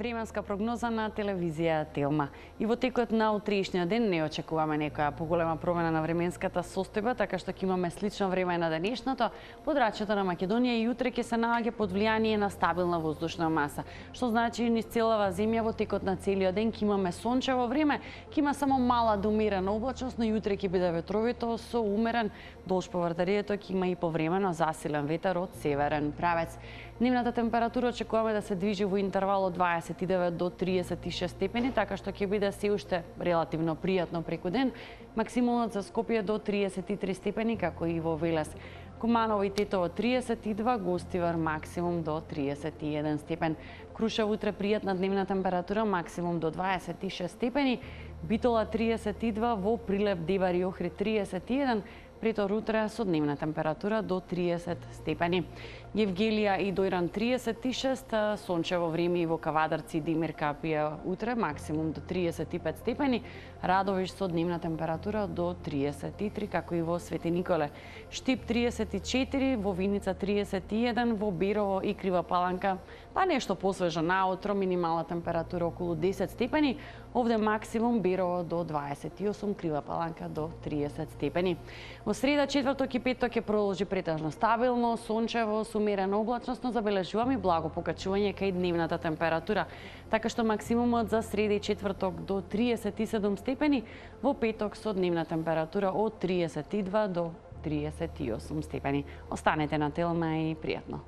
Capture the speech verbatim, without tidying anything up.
Временска прогноза на телевизија Телма. И во текот на утрешниот ден не очекуваме некоја поголема промена на временската состојба, така што ќе имаме слично време на денешното. Подрачјето на Македонија и утре ќе се наоѓа под влијание на стабилна воздушна маса, што значи низ целава земја во текот на целиот ден ќе имаме сончево време, ќе има само мала до умерена облачност, но и утре ќе биде ветровито со умерен долж повртарието, ќе има и повремено засилен ветер од северен правец. Дневната температура очекуваме да се движи во интервал од дваесет и девет до триесет и шест степени, така што ќе биде се уште релативно пријатно преку ден. Максимумот за Скопје до триесет и три степени, како и во Велес. Куманово и Тетово триесет и два, Гостивар максимум до триесет и еден степен. Крушево утре пријатна дневна температура, максимум до дваесет и шест степени. Битола триесет и два, во Прилеп, Девар и Охрид триесет и еден, Притор утре со дневна температура до триесет степени. Евгелија и Дојран триесет и шест, сончево време и во Кавадарци и Демир Капија утре максимум до триесет и пет степени, Радовиш со дневна температура до триесет и три, како и во Свети Николе. Штип триесет и четири, во Виница триесет и еден, во Берово и Крива Паланка па нешто посвежа наутро, минимална температура околу десет степени, овде максимум Берово до дваесет и осум, Крива Паланка до триесет степени. Во среда, четврток и петок ќе продолжи претежно стабилно, сончево, со умерена облачност, но забележуваме благо покачување кај дневната температура, така што максимумот за среда и четврток до триесет и седум степени, во петок со дневна температура од триесет и два до триесет и осум степени. Останете на Телма и пријатно.